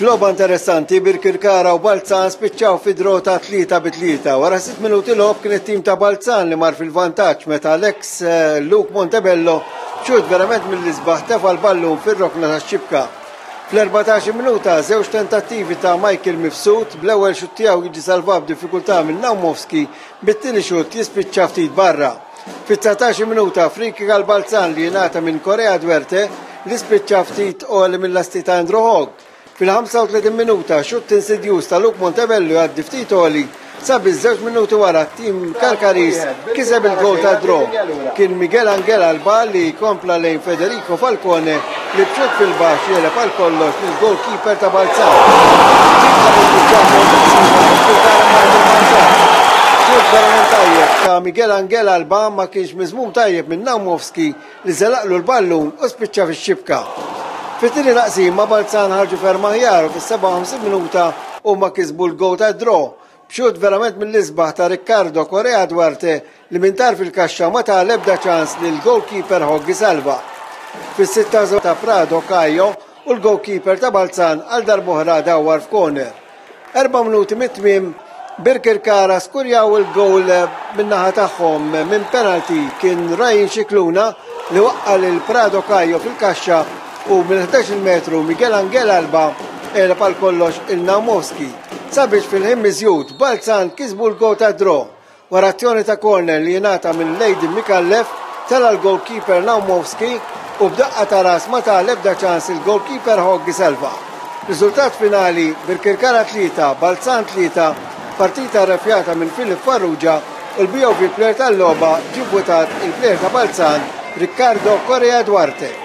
F'logħba interessanti, Birkirkara u Balzan spiċċaw fi draw ta' 3-3. Wara 6 minuti logħob kien it-tim ta' Balzan li mar fil-vantaġġ meta l-eks eh, Luke Montebello xut verament mill-isbaħ tefa' l-ballun fir-rokna tax-xibka. Fl-14 minuta żewġ tentattivi ta' Michael Mifsud bl-ewwel xut tiegħu jiġi salvat b'diffikultà minn Naumovski bit-tieni xut jispiċċa ftit barra. Fit-19 minuta free kick għal Balzan li jingħata minn Korea Duerte li spiċċa ftit għoli mill-lasti ta' Andrew Hogg. Fil-35 minuta xutt insidjuż ta' Luke Montebello jgħaddi ftit għoli sabiex żewġ minuti wara t-tim Karkaris kiseb il-gol ta' draw. Kien Miguel Angel Alba li kompla lejn Federico Falcone li b'xutt fil-baxx jegħleb għal kollox lill-goalkeeper ta' Balzan. Xutt verament tajjeb ta' Miguel Angel Alba ma kienx miżmum tajjeb minn Naumovski li żelaqlu l-ballun u spiċċa fix-xibka. Fit-tieni taqsima Balzan ħarġu ferm aħjar u fis-57 minuta huma kisbu l-goal tad-draw B'xutt verament mill-isbaħ ta' Riccardo Correa Duarte li minn tarf il-kaxxa ma ta l-ebda ċans lill-goalkeeper Hogg isalva. Fis-76 ta' Prado Caio u l-goalkeeper ta' Balzan għal darb'oħra dawwar f'corner. Erba' minuti mit-tmiem Birkirkara skurjaw il-goal min-naħa tagħhom minn penalty kien Ryan Scicluna li waqqa' lil Prado Caio fil-kaxxa u mill-11 metru Miguel Angel Alba għeleb għal kollox il Naumovski. Sabiex fil-ħin miżjud, Balzan kisbu l-goal tad-draw. Wara azzjoni ta' corner li jingħata minn Lady Micallef, tela' l-goalkeeper Naumovski u b'daqqa ta' ras ma ta l-ebda ċans il-goalkeeper Hogg isalva. Riżultat finali, Birkirkara 3, Balzan 3, partita rrefjata minn Philip Farrugia u l-BOV Player tal-logħba ġie vvutat il-plejer ta' Balzan, Riccardo Correa Duarte.